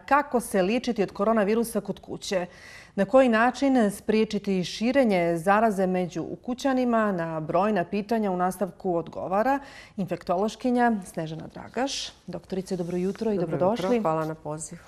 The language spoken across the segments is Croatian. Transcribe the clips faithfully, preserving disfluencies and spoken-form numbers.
kako se liječiti od koronavirusa kod kuće. Na koji način spriječiti širenje zaraze među ukućanima? Na brojna pitanja u nastavku odgovara infektološkinja Snežana Dragaš. Doktorice, dobro jutro i dobrodošli. Dobro jutro, hvala na poziv.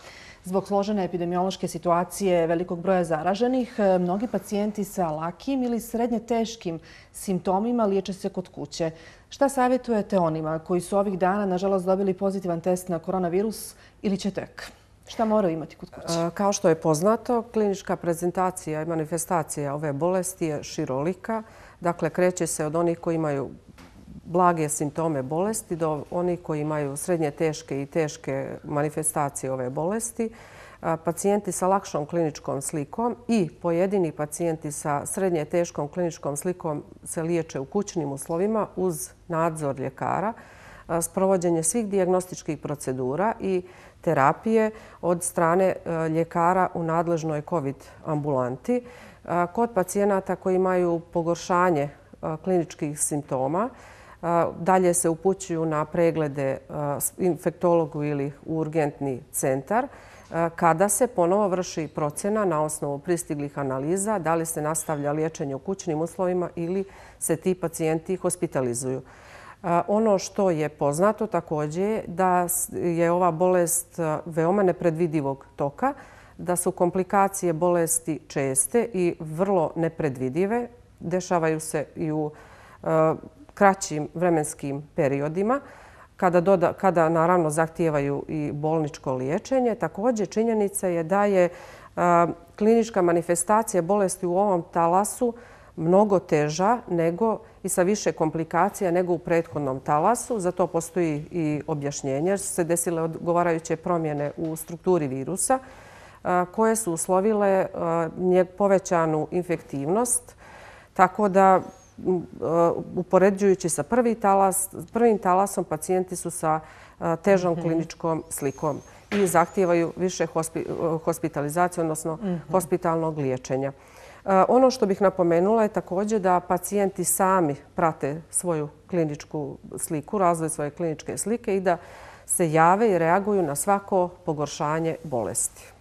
Zbog složene epidemiološke situacije velikog broja zaraženih, mnogi pacijenti sa lakim ili srednje teškim simptomima liječe se kod kuće. Šta savjetujete onima koji su ovih dana, nažalost, dobili pozitivan test na koronavirus ili će tek? Šta moraju imati kod kuće? Kao što je poznato, klinička prezentacija i manifestacija ove bolesti je širolika. Dakle, kreće se od onih koji imaju blage simptome bolesti do onih koji imaju srednje teške i teške manifestacije ove bolesti. Pacijenti sa lakšom kliničkom slikom i pojedini pacijenti sa srednje teškom kliničkom slikom se liječe u kućnim uslovima uz nadzor ljekara, sprovođenje svih dijagnostičkih procedura i terapije od strane ljekara u nadležnoj COVID ambulanti. Kod pacijenata koji imaju pogoršanje kliničkih simptoma, dalje se upućuju na preglede infektologu ili u urgentni centar, kada se ponovo vrši procjena na osnovu pristiglih analiza da li se nastavlja liječenje u kućnim uslovima ili se ti pacijenti hospitalizuju. Ono što je poznato također je da je ova bolest veoma nepredvidivog toka, da su komplikacije bolesti česte i vrlo nepredvidive. Dešavaju se i u kraćim vremenskim periodima, kada, doda, kada naravno zahtijevaju i bolničko liječenje. Također činjenica je da je a, klinička manifestacija bolesti u ovom talasu mnogo teža nego i sa više komplikacija nego u prethodnom talasu. Za to postoji i objašnjenje jer su se desile odgovarajuće promjene u strukturi virusa a, koje su uslovile a, povećanu infektivnost. Tako da upoređujući sa prvi talas, prvim talasom pacijenti su sa težom kliničkom slikom i zahtijevaju više hospitalizacije, odnosno hospitalnog liječenja. Ono što bih napomenula je također da pacijenti sami prate svoju kliničku sliku, razvoj svoje kliničke slike i da se jave i reaguju na svako pogoršanje bolesti.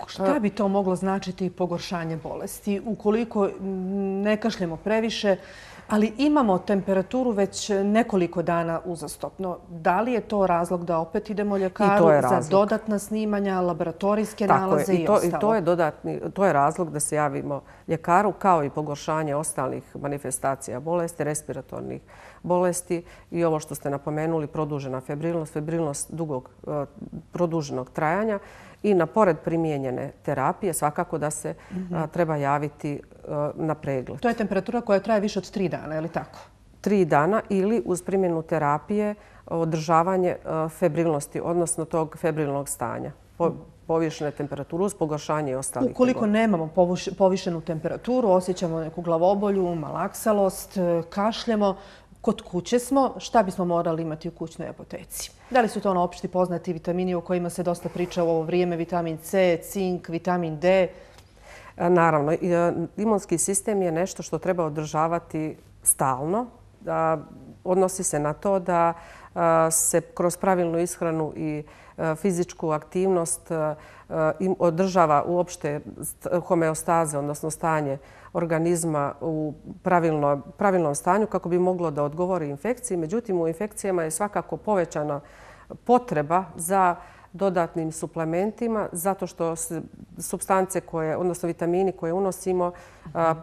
Šta bi to moglo značiti pogoršanje bolesti? Ukoliko ne kašljemo previše, ali imamo temperaturu već nekoliko dana uzastopno. Da li je to razlog da opet idemo ljekaru za dodatna snimanja, laboratorijske nalaze i ostalo? I to je dodatni, to je razlog da se javimo ljekaru kao i pogoršanje ostalih manifestacija bolesti, respiratornih bolesti i ovo što ste napomenuli, produžena febrilnost, febrilnost dugog produženog trajanja. I na pored primijenjene terapije svakako da se mm-hmm. a, treba javiti a, na pregled. To je temperatura koja traje više od tri dana, je li tako? Tri dana ili uz primjenu terapije održavanje a, febrilnosti, odnosno tog febrilnog stanja. Po, povišene temperaturu uz pogoršanje i ostalih. Ukoliko tegova. Nemamo povišenu temperaturu, osjećamo neku glavobolju, malaksalost, kašljemo, kod kuće smo, šta bismo morali imati u kućnoj apoteci? Da li su to ono opšti poznati vitamini o kojima se dosta priča u ovo vrijeme, vitamin C, cink, vitamin D? Naravno, imunski sistem je nešto što treba održavati stalno. Odnosi se na to da se kroz pravilnu ishranu i fizičku aktivnost održava uopšte homeostaze, odnosno stanje organizma u pravilno, pravilnom stanju kako bi moglo da odgovori infekciji. Međutim, u infekcijama je svakako povećana potreba za dodatnim suplementima zato što supstance koje, odnosno vitamini koje unosimo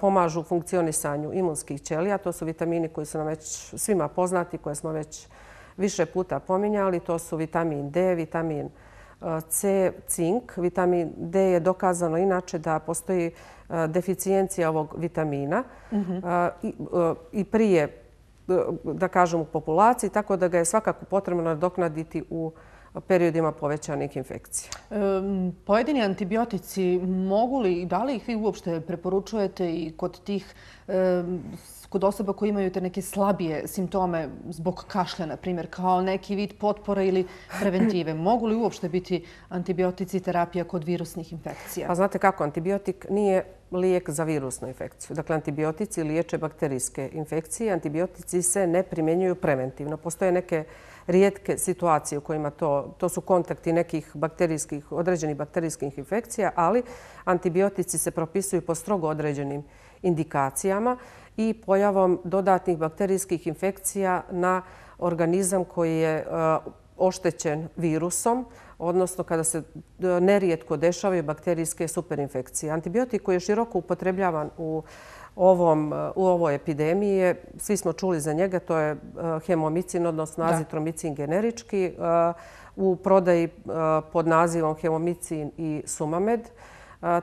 pomažu funkcionisanju imunskih ćelija. To su vitamini koji su nam već svima poznati, koje smo već više puta pominjali. To su vitamin D, vitamin C, cink. Vitamin D je dokazano inače da postoji deficijencija ovog vitamina mm-hmm. i, i prije, da kažem, u populaciji, tako da ga je svakako potrebno nadoknaditi u periodima povećanih infekcija. E, pojedini antibiotici mogu li, da li ih vi uopšte preporučujete i kod tih e, kod osoba koji imaju te neke slabije simptome zbog kašlja, na primjer, kao neki vid potpore ili preventive? Mogu li uopšte biti antibiotici terapija kod virusnih infekcija? Pa znate kako, antibiotik nije lijek za virusnu infekciju. Dakle, antibiotici liječe bakterijske infekcije. Antibiotici se ne primjenjuju preventivno. Postoje neke rijetke situacije u kojima to, to su kontakti nekih bakterijskih, određenih bakterijskih infekcija, ali antibiotici se propisuju po strogo određenim indikacijama i pojavom dodatnih bakterijskih infekcija na organizam koji je oštećen virusom, odnosno kada se nerijetko dešavaju bakterijske superinfekcije. Antibiotik koji je široko upotrebljavan u, ovom, u ovoj epidemiji, svi smo čuli za njega, to je hemomicin, odnosno azitromicin generički, u prodaji pod nazivom hemomicin i sumamed.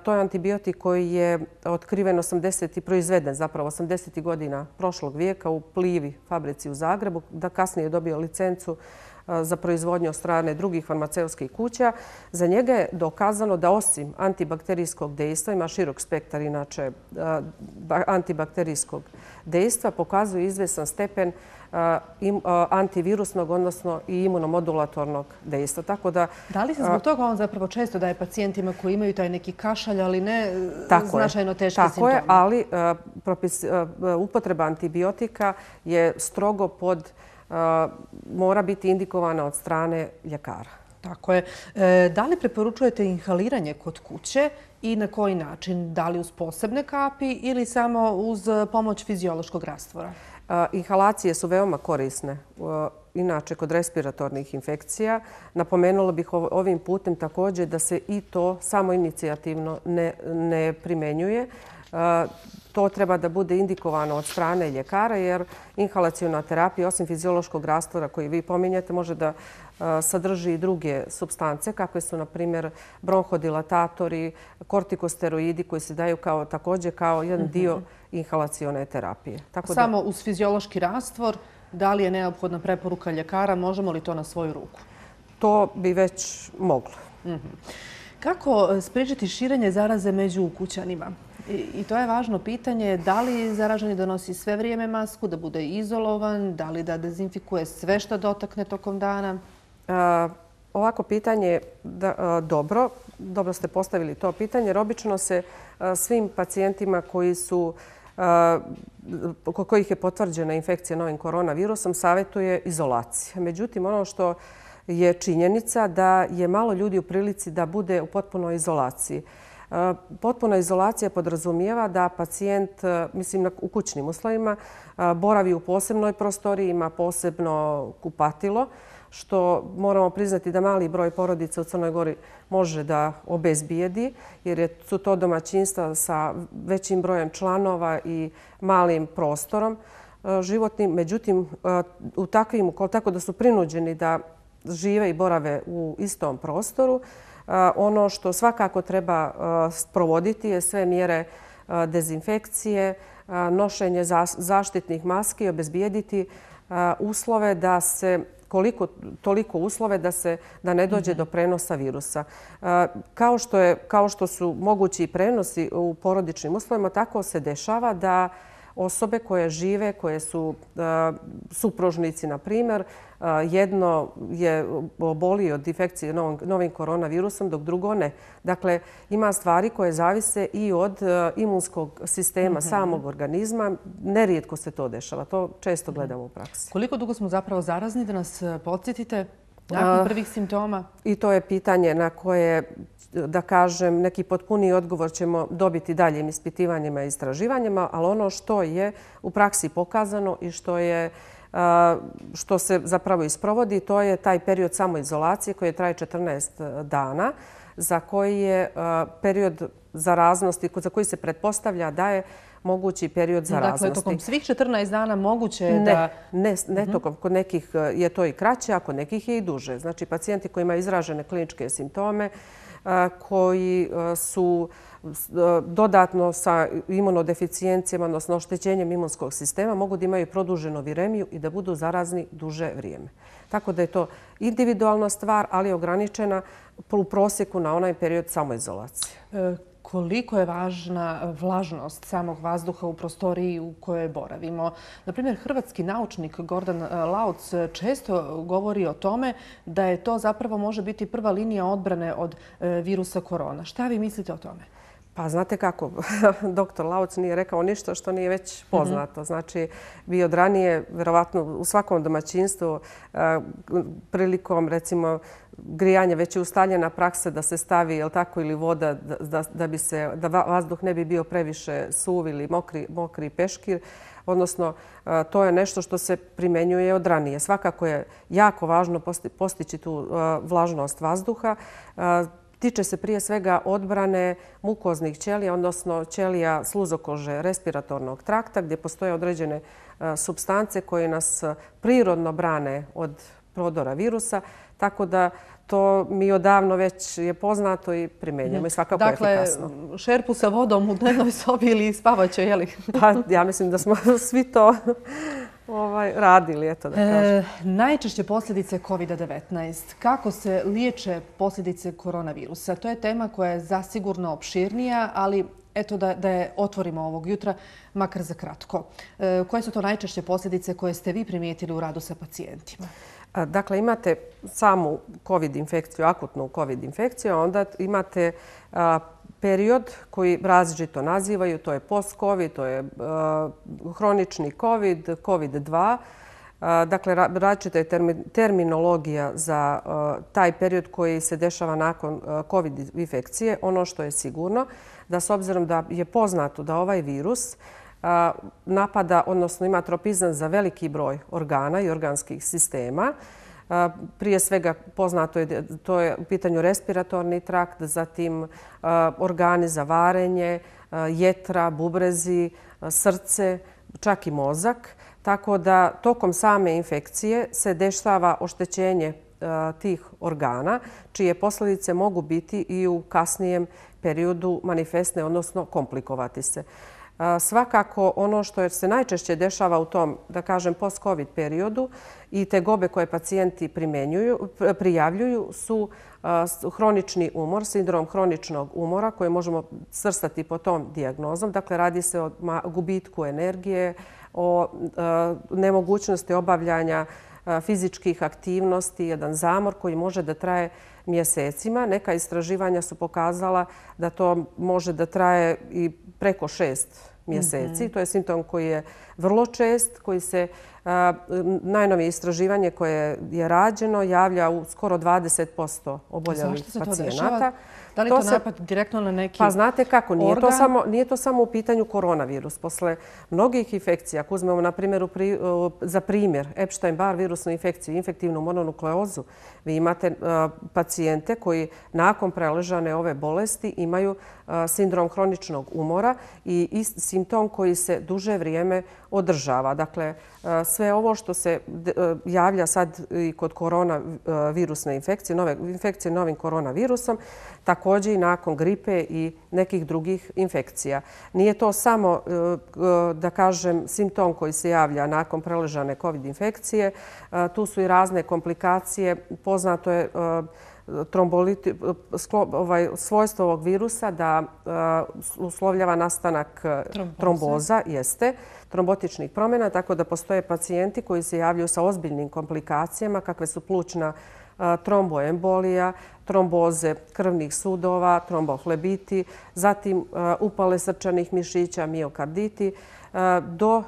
To je antibiotik koji je otkriven osamdesetih i proizveden zapravo osamdesetih godina prošlog vijeka u Plivi fabrici u Zagrebu, da kasnije je dobio licencu za proizvodnju od strane drugih farmaceutskih kuća. Za njega je dokazano da osim antibakterijskog dejstva, ima širok spektar inače antibakterijskog dejstva, pokazuje izvjestan stepen antivirusnog, odnosno i imunomodulatornog dejstva. Tako da, da li se zbog toga on zapravo često daje pacijentima koji imaju taj neki kašalj, ali ne značajno teške simptome? Tako je, ali propis, upotreba antibiotika je strogo pod mora biti indikovana od strane ljekara. Tako je. Da li preporučujete inhaliranje kod kuće i na koji način? Da li uz posebne kapi ili samo uz pomoć fiziološkog rastvora? Inhalacije su veoma korisne. Inače, kod respiratornih infekcija, napomenula bih ovim putem također da se i to samoinicijativno ne, ne primenjuje. To treba da bude indikovano od strane ljekara jer inhalaciona terapija, osim fiziološkog rastvora koji vi pominjete, može da sadrži i druge supstance kakve su, na primjer, bronhodilatatori, kortikosteroidi koji se daju kao, također kao jedan dio inhalacione terapije. Tako Samo da, uz fiziološki rastvor, da li je neophodna preporuka ljekara, možemo li to na svoju ruku? To bi već moglo. Mm-hmm. Kako spriječiti širenje zaraze među ukućanima? I to je važno pitanje. Da li zaraženi donosi sve vrijeme masku, da bude izolovan, da li da dezinfikuje sve što dotakne tokom dana? A, ovako pitanje da, dobro. Dobro ste postavili to pitanje. Jer obično se a, svim pacijentima koji su kod kojih je potvrđena infekcija novim koronavirusom savjetuje izolacija. Međutim, ono što je činjenica da je malo ljudi u prilici da bude u potpunoj izolaciji. Potpuna izolacija podrazumijeva da pacijent, mislim u kućnim uslovima, boravi u posebnoj prostoriji, ima posebno kupatilo, što moramo priznati da mali broj porodica u Crnoj Gori može da obezbijedi, jer su to domaćinstva sa većim brojem članova i malim prostorom životnim. Međutim, u takvim, tako da su prinuđeni da žive i borave u istom prostoru, ono što svakako treba sprovoditi je sve mjere dezinfekcije, nošenje zaštitnih maski i obezbijediti uslove da se koliko toliko uslove da se da ne dođe do prenosa virusa. Kao što je kao što su mogući prenosi u porodičnim uslovima, tako se dešava da osobe koje žive, koje su supružnici, na primjer, jedno je boli od infekcije novim koronavirusom, dok drugo ne. Dakle, ima stvari koje zavise i od imunskog sistema samog organizma. Nerijetko se to dešava. To često gledamo u praksi. Koliko dugo smo zapravo zarazni, da nas podsjetite? Nakon prvih simptoma? I to je pitanje na koje, da kažem, neki potpuniji odgovor ćemo dobiti daljim ispitivanjima i istraživanjima, ali ono što je u praksi pokazano i što je što se zapravo isprovodi, to je taj period samoizolacije koji traje četrnaest dana, za koji je period zaraznosti, za koji se pretpostavlja da je mogući period zaraznosti. Dakle, tokom svih četrnaest dana moguće je ne, da... Ne, ne tokom. Kod nekih je to i kraće, a kod nekih je i duže. Znači, pacijenti koji imaju izražene kliničke simptome, koji su dodatno sa imunodeficijencijama, odnosno oštećenjem imunskog sistema, mogu da imaju produženu viremiju i da budu zarazni duže vrijeme. Tako da je to individualna stvar, ali ograničena u prosjeku na onaj period samoizolacije. Koliko je važna vlažnost samog vazduha u prostoriji u kojoj boravimo? Naprimjer, hrvatski naučnik Gordan Lauc često govori o tome da je to zapravo može biti prva linija odbrane od virusa korona. Šta vi mislite o tome? Pa znate kako, doktor Lauc nije rekao ništa što nije već poznato. Znači, vi od ranije, verovatno u svakom domaćinstvu, prilikom, recimo, grijanja već je ustaljena praksa da se stavi, jel tako, ili voda da, da, bi se, da vazduh ne bi bio previše suv ili mokri, mokri peškir. Odnosno, to je nešto što se primenjuje od ranije. Svakako je jako važno postići tu vlažnost vazduha. Tiče se prije svega odbrane mukoznih ćelija, odnosno ćelija sluzokože respiratornog trakta, gdje postoje određene supstance koje nas prirodno brane od prodora virusa. Tako da to mi odavno već je poznato i primenjujemo i svakako je efikasno. Dakle, šerpu sa vodom u dnevnoj sobi ili spavaće, je li? Pa, ja mislim da smo svi to ovaj, radili, eto da kažem. E, najčešće posljedice kovid devetnaest. Kako se liječe posljedice koronavirusa? To je tema koja je zasigurno opširnija, ali eto da, da je otvorimo ovog jutra, makar za kratko. E, koje su to najčešće posljedice koje ste vi primijetili u radu sa pacijentima? Dakle, imate samu COVID infekciju, akutnu COVID infekciju, a onda imate a, period koji različito nazivaju, to je post-COVID, to je a, hronični COVID, kovid dva. A, dakle, različita je termi, terminologija za a, taj period koji se dešava nakon a, COVID infekcije. Ono što je sigurno, da s obzirom da je poznato da ovaj virus napada, odnosno ima tropizam za veliki broj organa i organskih sistema. Prije svega poznato je, to je u pitanju respiratorni trakt, zatim organi za varenje, jetra, bubrezi, srce, čak i mozak. Tako da tokom same infekcije se dešava oštećenje tih organa, čije posljedice mogu biti i u kasnijem periodu manifestne, odnosno komplikovati se. Svakako ono što se najčešće dešava u tom, da kažem, post-COVID periodu i tegobe koje pacijenti prijavljuju su hronični umor, sindrom hroničnog umora koji možemo svrstati po tom dijagnozom. Dakle, radi se o gubitku energije, o nemogućnosti obavljanja fizičkih aktivnosti, jedan zamor koji može da traje mjesecima. Neka istraživanja su pokazala da to može da traje i preko šest mjeseci. Mm-hmm. To je simptom koji je vrlo čest, koji se a, najnovije istraživanje koje je rađeno javlja u skoro dvadeset posto oboljelih pacijenata. Da li to, to napad se, direktno na neki Pa znate kako, nije organ? to, samo, nije to samo u pitanju koronavirus. Posle mnogih infekcija, ako uzmemo na primjer, pri, za primjer Epstein-Barr virusnu infekciju, infektivnu mononukleozu, vi imate uh, pacijente koji nakon preležane ove bolesti imaju uh, sindrom hroničnog umora i ist, simptom koji se duže vrijeme održava. Dakle, uh, sve ovo što se uh, javlja sad i kod koronavirusne infekcije, nove infekcije novim koronavirusom, također i nakon gripe i nekih drugih infekcija. Nije to samo, da kažem, simptom koji se javlja nakon preležane COVID infekcije. Tu su i razne komplikacije. Poznato je tromboliti, ovaj, svojstvo ovog virusa da uslovljava nastanak tromboza. tromboza, jeste, trombotičnih promjena, tako da postoje pacijenti koji se javljaju sa ozbiljnim komplikacijama, kakve su plućna tromboembolija, tromboze krvnih sudova, trombohlebiti, zatim upale srčanih mišića, miokarditi, do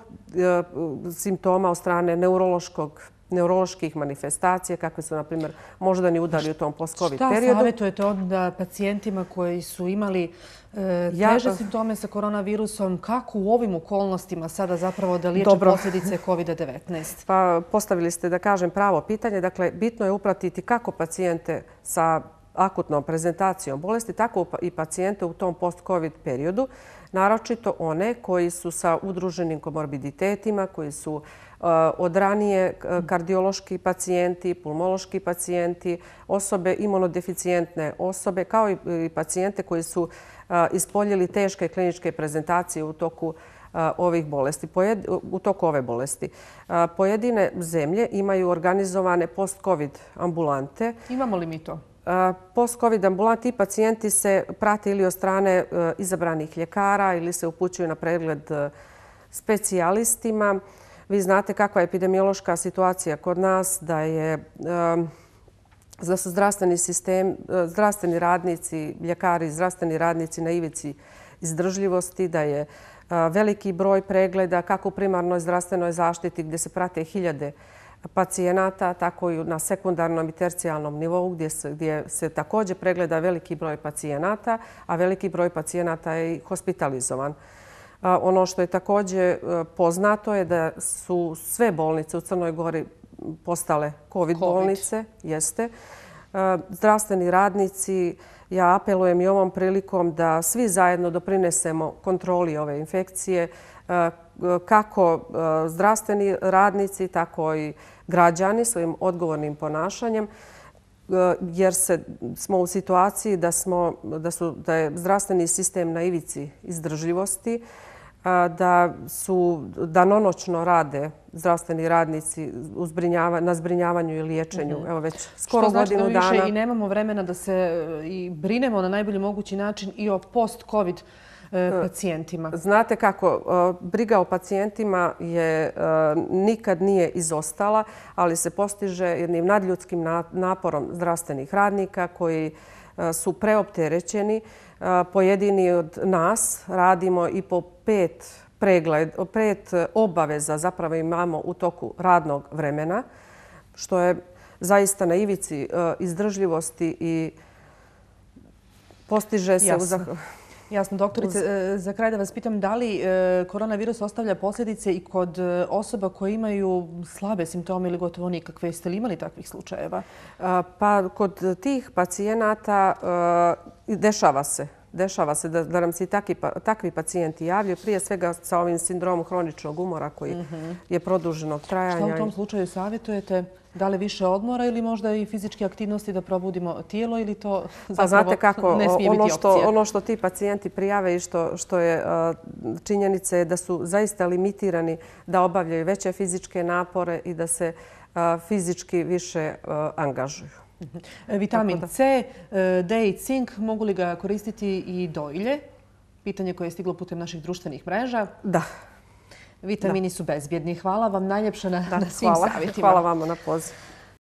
simptoma od strane neurološkog neuroloških manifestacija, kakve su, na primjer, moždani udari u tom post-COVID periodu. Šta savjetujete onda pacijentima koji su imali e, teže ja, simptome sa koronavirusom? Kako u ovim okolnostima sada zapravo da liječe dobro. posljedice kovid devetnaest? Pa postavili ste, da kažem, pravo pitanje. Dakle, bitno je upratiti kako pacijente sa akutnom prezentacijom bolesti, tako i pacijente u tom post-COVID periodu, naročito one koji su sa udruženim komorbiditetima, koji su od ranije kardiološki pacijenti, pulmološki pacijenti, osobe imunodeficijentne osobe, kao i pacijente koji su ispoljili teške kliničke prezentacije u toku ovih bolesti, u toku ove bolesti. Pojedine zemlje imaju organizovane post-COVID ambulante. Imamo li mi to? Post-COVID ambulanti i pacijenti se prate ili od strane izabranih ljekara ili se upućuju na pregled specijalistima. Vi znate kakva je epidemiološka situacija kod nas, da je da su zdravstveni sistem, zdravstveni radnici, ljekari, zdravstveni radnici na ivici izdržljivosti, da je veliki broj pregleda kako u primarnoj zdravstvenoj zaštiti gdje se prate hiljade pacijenata, tako i na sekundarnom i tercijalnom nivou gdje se, gdje se također pregleda veliki broj pacijenata, a veliki broj pacijenata je i hospitalizovan. Ono što je također poznato je da su sve bolnice u Crnoj Gori postale COVID, COVID. bolnice. Jeste. Zdravstveni radnici, ja apelujem i ovom prilikom da svi zajedno doprinesemo kontroli ove infekcije, kako zdravstveni radnici, tako i građani svojim odgovornim ponašanjem, jer se, smo u situaciji da, smo, da, su, da je zdravstveni sistem na ivici izdržljivosti, da su danonoćno rade zdravstveni radnici u zbrinjava, na zbrijavanju i liječenju. Mm-hmm. Evo već skoro Što znači godinu da više dana. I nemamo vremena da se i brinemo na najbolji mogući način i o post-COVID pacijentima. Znate kako, briga o pacijentima je nikad nije izostala, ali se postiže jednim nadljudskim naporom zdravstvenih radnika koji su preopterećeni. Pojedini od nas radimo i po pet pregled, pet obaveza zapravo imamo u toku radnog vremena, što je zaista na ivici izdržljivosti i postiže se... Jasno. U Jasno, doktorice. Za kraj da vas pitam, da li koronavirus ostavlja posljedice i kod osoba koje imaju slabe simptome ili gotovo nikakve? Jeste li imali takvih slučajeva? Pa kod tih pacijenata dešava se. Dešava se da, da nam se i takvi, takvi pacijenti javljaju, prije svega sa ovim sindromom hroničnog umora koji mm-hmm. je produženog trajanja. Šta u tom slučaju savjetujete? Da li više odmora ili možda i fizičke aktivnosti da probudimo tijelo ili to zapravo znate kako, ne smije ono biti što, opcija? ono što ti pacijenti prijave i što, što je uh, činjenica je da su zaista limitirani da obavljaju veće fizičke napore i da se uh, fizički više uh, angažuju. Vitamin C, D i cink, mogu li ga koristiti i dojilje? Pitanje koje je stiglo putem naših društvenih mreža. Da. Vitamini da. su bezbjedni. Hvala vam najljepše na, da, na svim hvala. savjetima. Hvala vama na poziv.